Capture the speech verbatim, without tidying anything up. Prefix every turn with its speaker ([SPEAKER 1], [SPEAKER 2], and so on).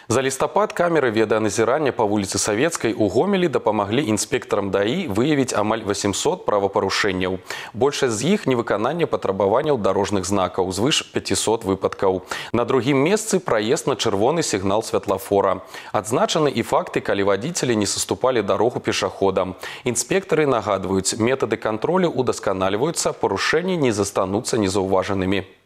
[SPEAKER 1] За лістапад камеры відэаназірання па вуліцы Савецкай у Гомелі дапамаглі інспектарам ДАІ выявіць амаль восемьсот правапарушэнняў. Большасць з іх невыкананне патрабаванняў дарожных знакаў, звыш пяцісот выпадкаў. На другім месцы праезд на чырвоны сігнал святлафора. Адзначаны і факты, калі вадзіцелі не саступалі дарогу пешаходам. Інспектары нагадваюць, метады кантролю удасканальваюцца, парушэнні не застануцца незаўважанымі.